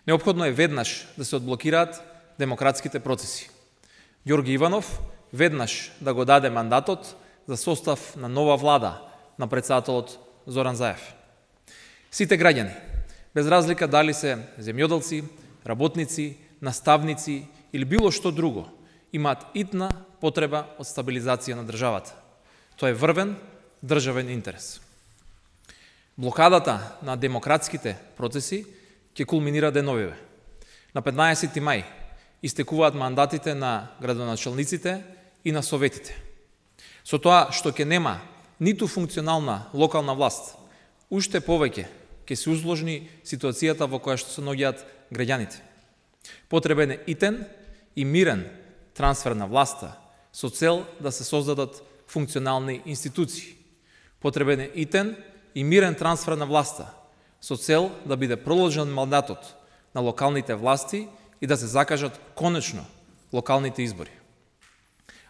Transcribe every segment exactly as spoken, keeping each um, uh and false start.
Неопходно е веднаш да се одблокираат демократските процеси. Ѓорги Иванов веднаш да го даде мандатот за состав на нова влада на председателот Зоран Заев. Сите граѓани, без разлика дали се земјоделци, работници, наставници или било што друго, имаат итна потреба од стабилизација на државата. Тоа е врвен државен интерес. Блокадата на демократските процеси ќе кулминира деновиве. На петнаесети мај истекуваат мандатите на градоначалниците и на советите. Со тоа што ќе нема ниту функционална локална власт, уште повеќе ќе се усложни ситуацијата во која што се наоѓаат граѓаните. Потребен е итен и мирен трансфер на власта со цел да се создадат функционални институции. Потребен е итен и мирен трансфер на власта со цел да биде продолжен мандатот на локалните власти и да се закажат конечно локалните избори.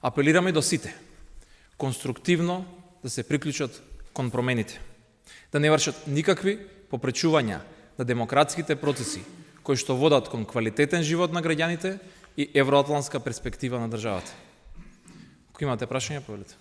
Апелираме до сите конструктивно да се приклучат кон промените, да не вршат никакви попречувања на демократските процеси кои што водат кон квалитетен живот на граѓаните и евроатлантска перспектива на државата. Ако имате прашања, повелете.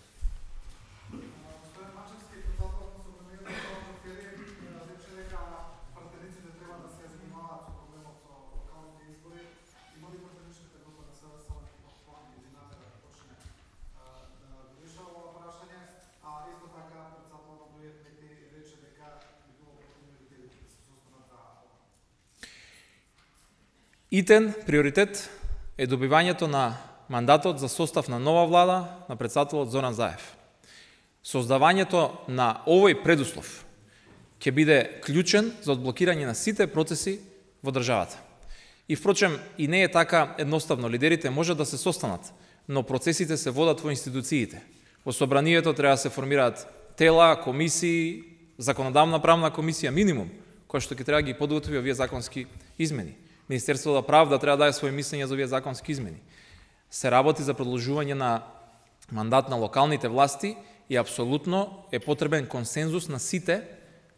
Итен приоритет е добивањето на мандатот за состав на нова влада на председателот Зоран Заев. Создавањето на овој предуслов ќе биде клучен за одблокирање на сите процеси во државата. И впрочем, и не е така едноставно. Лидерите може да се состанат, но процесите се водат во институциите. Во собранието треба да се формираат тела, комисии, законодавна правна комисија минимум, која што ќе треба да ги подготви овие законски измени. Министерството за правда треба да даде своје мислење за овие законски измени. Се работи за продолжување на мандат на локалните власти и апсолутно е потребен консензус на сите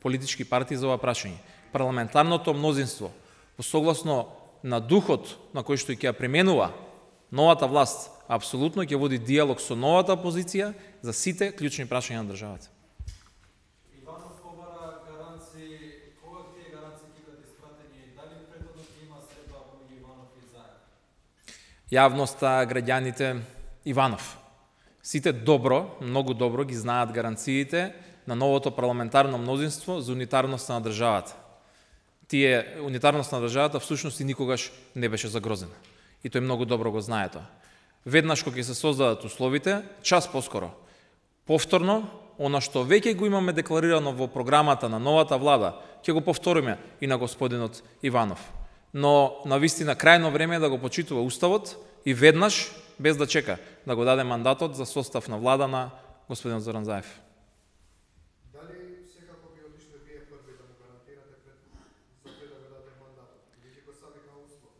политички партии за ова прашање. Парламентарното мнозинство, согласно на духот на кој што ќе ја применува новата власт, апсолутно ќе води диалог со новата опозиција за сите клучни прашања на државата. Јавноста, граѓаните, Иванов. Сите добро, многу добро ги знаат гаранциите на новото парламентарно мнозинство за унитарноста на државата. Тие унитарноста на државата всушност и никогаш не беше загрозена. И тој многу добро го знае тоа. Веднаш кога ќе се создадат условите, час поскоро, повторно, она што веќе го имаме декларирано во програмата на новата влада, ќе го повториме и на господинот Иванов. Но навистина крајно време е да го почитува уставот и веднаш, без да чека, да го даде мандатот за состав на влада на господин Зоран Заев. Дали секако би одишле вие први да му гарантирате пред за пред да го даде мандатот? Или ќе го ставите на услов?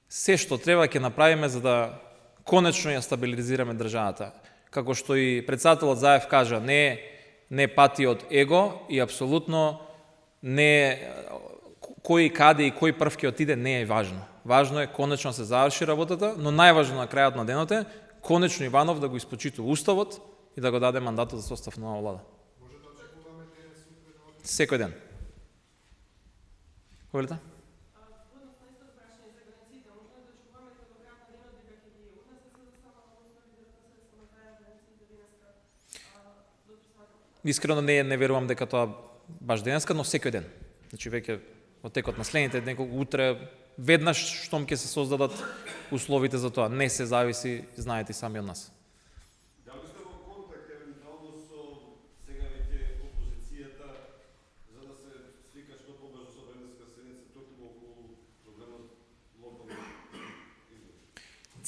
Се што треба ќе направиме за да конечно ја стабилизираме државата. Како што и председателот Заев кажа, не не пати од его и апсолутно не кој каде и кој прв ќе отиде не е важно. Важно е конечно се заврши работата, но најважно на крајот на денот е конечно Иванов да го испочитува уставот и да го даде мандатот за состав на нова влада. Може да очекуваме сутре да Секој ден. Повелете? Искрено не не верувам дека тоа баш денеска, но секој ден. Значи веќе во текот на следните неколку утре веднаш штом ќе се создадат условите за тоа. Не се зависи, знаете сами од нас. Дали сте во контакт евентуално со сега веќе опозицијата за да се свика што побрзо собраниска седница токму околу проблемот локални избори?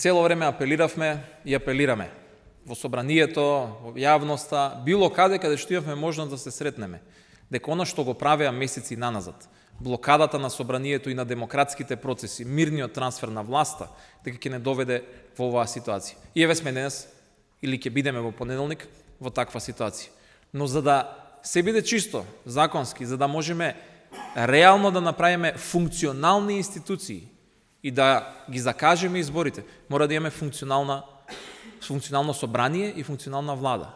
Цело време апелиравме и апелираме во собранието, во јавноста, било каде каде што имавме можност да се сретнеме, дека она што го правеа месеци наназад, блокадата на собранието и на демократските процеси, мирниот трансфер на власта, дека ќе не доведе во оваа ситуација. И еве сме денес, или ќе бидеме во понеделник, во таква ситуација. Но за да се биде чисто, законски, за да можеме реално да направиме функционални институции и да ги закажеме изборите, мора да имаме функционална, функционално собрание и функционална влада.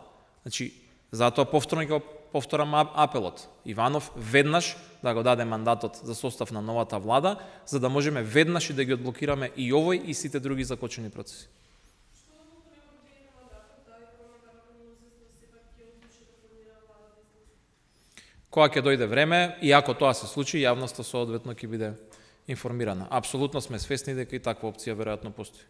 Значи, затоа повторно ќе повторам апелот. Иванов веднаш да го даде мандатот за состав на новата влада, за да можеме веднаш и да ги одблокираме и овој и сите други закочени процеси. Кога ќе дојде време, и ако тоа се случи, јавноста соодветно ќе биде информирана. Апсолутно сме свесни дека и таква опција веројатно постои.